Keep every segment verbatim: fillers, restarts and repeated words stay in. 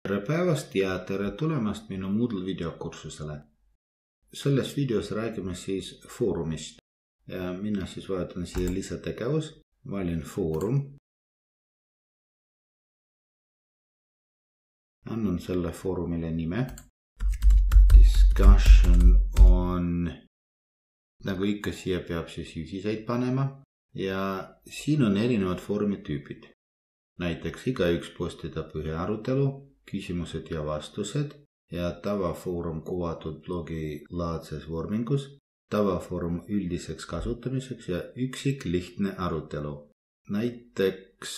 Tere päevast ja tere tulemast minu Moodle videokursusele. Selles videos räägime siis foorumist ja mina siis vaatan siia lisategevus, valin foorum. Annan selle foorumile nime. Discussion on, nagu ikka siia peab siis juhiseid panema ja siin on erinevad foorumi tüübid. Näiteks igaüks postitab ühe arutelu, küsimused ja vastused ja tavafoorum kuvatud blogi laadses vormingus, tavafoorum üldiseks kasutamiseks ja üksik lihtne arutelu. Näiteks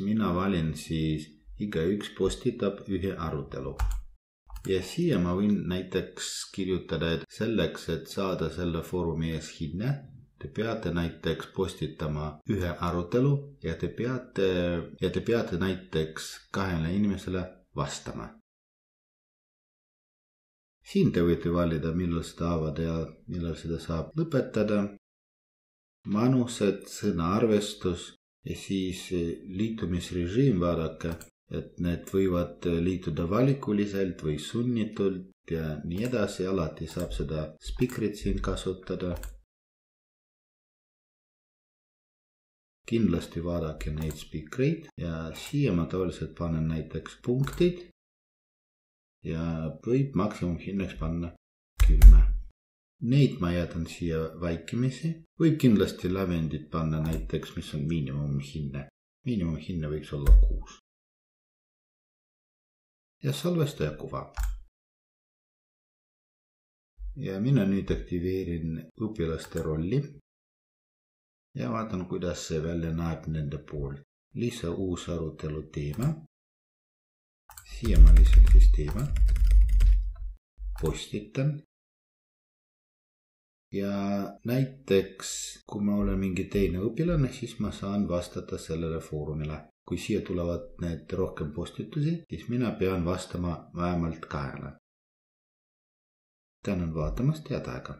mina valin siis igaüks postitab ühe arutelu. Ja siia ma võin näiteks kirjutada, et selleks, et saada selle foorumi ees hinne, te peate näiteks postitama ühe arutelu ja te peate, ja te peate näiteks kahele inimesele vastama. Siin te võite valida, millal seda avada ja millal seda saab lõpetada. Manused, sõnaarvestus ja siis liitumisrežiim vaadake, et need võivad liituda valikuliselt või sunnitult ja nii edasi. Alati saab seda speakerit siin kasutada. Kindlasti vaadake neid speakereid ja siia ma tavaliselt panen näiteks punktid ja võib maksimumhinnaks panna kümme. Neid ma jätan siia vaikimisi. Võib kindlasti lävendit panna näiteks, mis on miinimumhinne. Miinimumhinne võiks olla kuus. Ja salvestaja kuva. Ja mina nüüd aktiveerin õpilaste rolli. Ja vaatan, kuidas see välja näeb nende poolt. Lisa uus arutelu teema. Siia ma lisan siis teema. Postitan. Ja näiteks, kui ma olen mingi teine õpilane, siis ma saan vastata sellele foorumile. Kui siia tulevad need rohkem postitusi, siis mina pean vastama vähemalt kahele. Tänan vaatamast, head aega!